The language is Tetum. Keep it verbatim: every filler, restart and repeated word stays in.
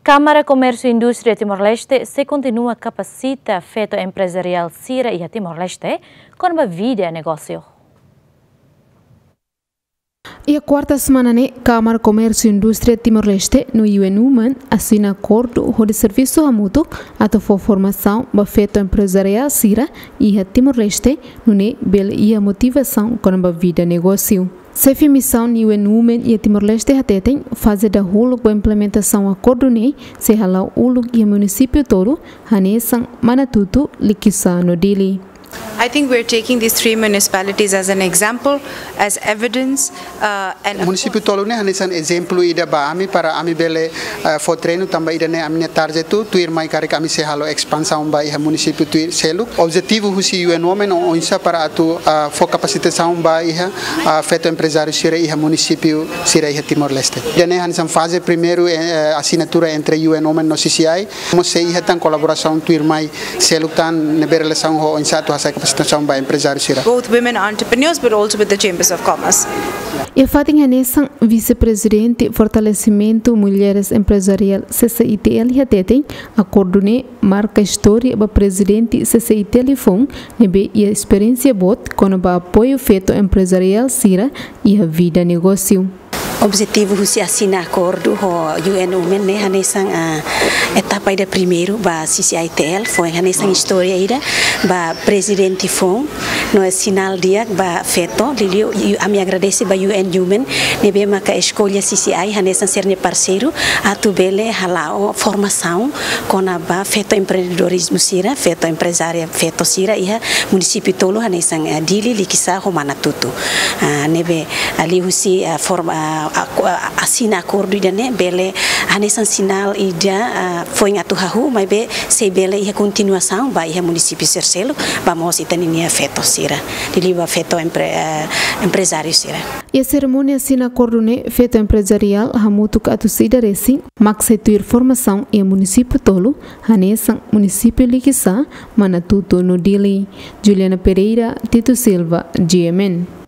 Kámara Komérsiu Indústria Timor-Leste sei kontinua kapasita feto emprezariál sira iha Timor-Leste kona-ba vida negósiu. Iha kuarta semana ne'e, Kámara Komérsiu Indústria Timor-Leste no U N Women asina akordu hodi servisu hamutuk atu fó formasaun ba feto emprezariál sira iha Timor-Leste, nune'e bele iha motivasaun kona-ba vida negósiu. Xefe misaun U N Women iha Timor-Leste hateten, faze dahuluk ba implementasaun akordu ne'e sei hala'o uluk iha munisípiu tolu, hanesan Manatuto, Likisá no Dili. I think we're taking these three municipalities as an example, as evidence, uh, and of Munisípiu course tolu ne'e hanesan ezemplu ida ba ami para ami bele, eh, fó treinu tanba ida-ne'e ami-nia target tu, tuirmai karik ami sei halo espansaun ba iha munisípiu tuir seluk. Objetivu husi U N Women o- oinsá para atu, ah, fó kapasitasaun ba iha, ah, feto emprezáriu sira iha munisípiu sira iha Timor-Leste. Ida-ne'e hanesan faze primeiru, eh, asinatura entre U N Women no C C I. Mós sei iha tan kolaborasaun tuirmai seluk tan ne'ebé relasaun ho oinsá atu hasai kapasitasaun ba emprezáriu sira. Both women entrepreneurs, but also with the Chambers of Commerce. Iha fatin hanesan, Vise-Prezidente Fortalesimentu Mulheres Emprezariál, C C I T L, hateten, akordu ne'e marka istória ba Prezidente C C I T L foun, ne'ebé iha esperiénsia boot kona-ba apoiu feto emprezariál sira iha vida negósiu. Objetivu husi asina akordu ho U N Women ne'e hanesan, ah, etapa ida primeiru ba C C I T L, foin hanesan istória ida ba Prezidente foun, no sinál di'ak ba feto. Liuliu, u- ami agradese ba U N Women ne'ebé maka eskolla C C I hanesan sira-nia parseiru atu bele hala'o formasaun kona-ba feto empreendedorizmu sira, feto emprezária feto sira iha munisípiu tolu hanesan, eh, Dili, Likisá ho Manatuto. Ah, ne'ebé, ah, liuhusi, ah, forma, ah, aku- ah, asina akordu ida-ne'e bele hanesan sinál ida, ah, foin atu hahú, maibé sei bele iha kontinuasaun ba iha munisípiu sira seluk, ba mós ita-nia feto sira, liuliu ba feto empre- eh, emprezáriu sira. Iha serimónia asina akordu ne'e, feto emprezariál hamutuk atus ida resin mak sei tuir formasaun iha munisípiu tolu, hanesan munisípiu Likisá, Manatuto no Dili. Juliana Pereira, Tito Silva, G M N.